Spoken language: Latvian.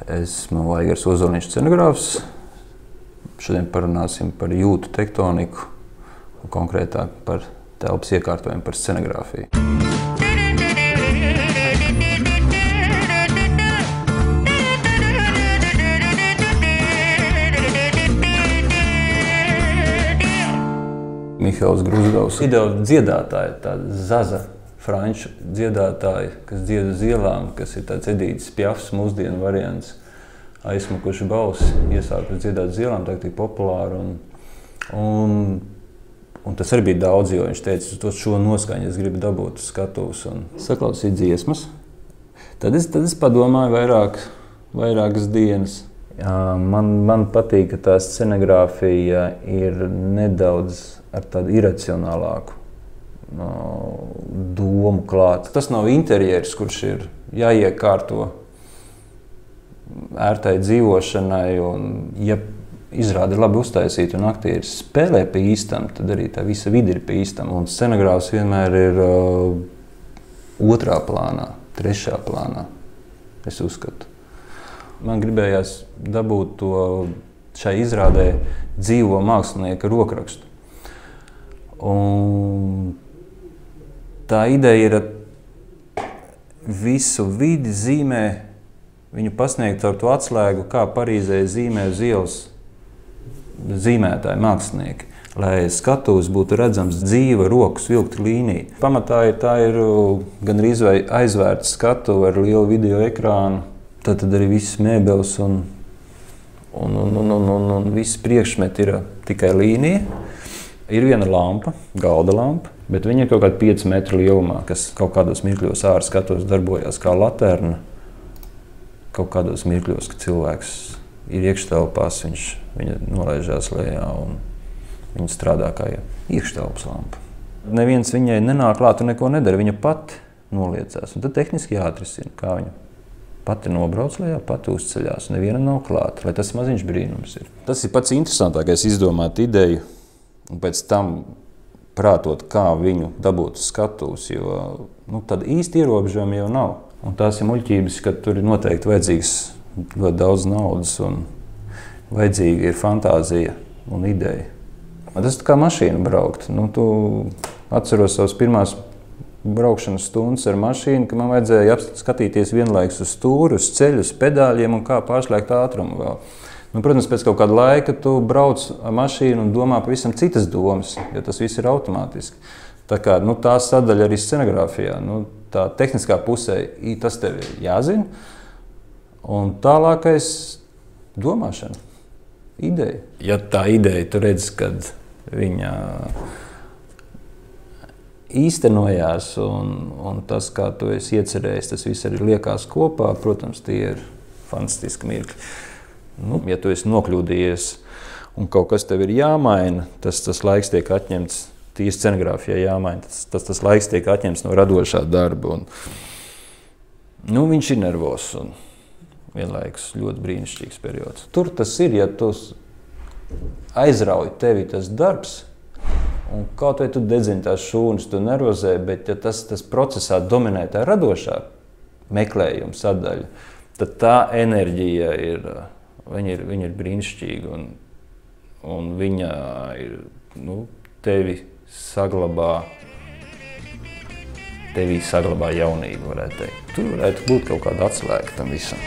Esmu Aigars Ozoliņš, scenogrāfs. Šodien parunāsim par jūtu tektoniku un konkrētāk par telpas iekārtojumu, par scenogrāfiju. Mihails Gruzdovs, ideāli dziedātāji, tāda zaza franču dziedātāji, kas dzied uz ielām, kas ir tāds Edītas Piafs mūsdienu variants. Aizsmukuši balsi, iesākuši dziedāt uz ielām, tā ir populāri. Un tas arī bija daudz, jo viņš teica, to šo noskaņu es gribu dabūt uz skatuves un saklausīt dziesmas. Tad es padomāju vairākas dienas. Man patīk, ka tā scenogrāfija ir nedaudz ar tādu iracionālāku domu klāt. Tas nav interjers, kurš ir jāiekārto ērtai dzīvošanai, un ja izrāda ir labi uztaisīta un aktieri spēlē pa īstam, tad arī tā visa vide ir pa īstam. Un scenogrāfs vienmēr ir otrā plānā, trešā plānā, es uzskatu. Man gribējās dabūt to šai izrādē dzīvo mākslinieka rokrakstu. Un tā ideja ir visu vidi zīmē, viņu pasniegt ar to atslēgu, kā Parīzē zīmē uz ielas zīmētāji, mākslinieki, lai skatuves būtu redzams dzīva, rokas vilkta līnija. Pamatā tā ir gan vai aizvērta skatuve ar lielu video ekrānu, tad arī viss mēbeles un viss priekšmeti ir tikai līnija. Ir viena lampa, galda lampa, bet viņa ir kaut kāda 5 metru lielumā, kas kaut kādos mirkļos ārā skatuves darbojās kā laterna. Kaut kādos mirkļos, ka cilvēks ir iekštelpās, viņa nolaižās lejā un viņa strādā kā iekštelpas lampa. Neviens viņai nenāk klāt un neko nedara, viņa pati noliecās. Un tad tehniski jāatrisina, kā viņa pati nobrauc lejā, pati uzceļās. Neviena nav klāta, lai tas maziņš brīnums ir. Tas ir pats interesantākais izdomāt ideju un pēc tam prātot, kā viņu dabūt uz skatuves, jo tāda īsti ierobežojuma jau nav. Un tās ir muļķības, ka tur ir noteikti vajadzīgs ļoti daudz naudas un vajadzīga ir fantāzija un ideja. Tas ir kā mašīna braukt. Tu atceros savas pirmās braukšanas stundas ar mašīnu, ka man vajadzēja skatīties vienlaikus uz stūri, uz ceļu, uz pedāļiem un kā pārslēgt ātrumu vēl. Protams, pēc kaut kāda laika tu brauc ar mašīnu un domā pavisam citas domas, jo tas viss ir automātiski. Tā kā tā sadaļa arī scenogrāfijā, tā tehniskā pusē, tas tev ir jāzina. Un tālākais domāšana, ideja. Ja tā ideja, tu redzi, kad viņa īstenojās un tas, kā tu esi iecerējis, tas viss arī liekās kopā, protams, tie ir fantastiski mirkļi. Ja tu esi nokļūdījies un kaut kas tev ir jāmaina, tas laiks tiek atņemts, tīri scenogrāfijā jāmaina, tas laiks tiek atņemts no radošā darba. Viņš ir nervos un vienlaikus ļoti brīnišķīgs periods. Tur tas ir, ja tu aizrauj tevi tas darbs, un kaut vai tu dedzini tās šūnas, tu nervozē, bet ja tas procesā dominē tā radošā meklējuma sadaļa, tad tā enerģija viņa ir brīnišķīga un viņa ir, tevi saglabā jaunību, varētu teikt. Tur varētu būt kaut kāda atslēga tam visam.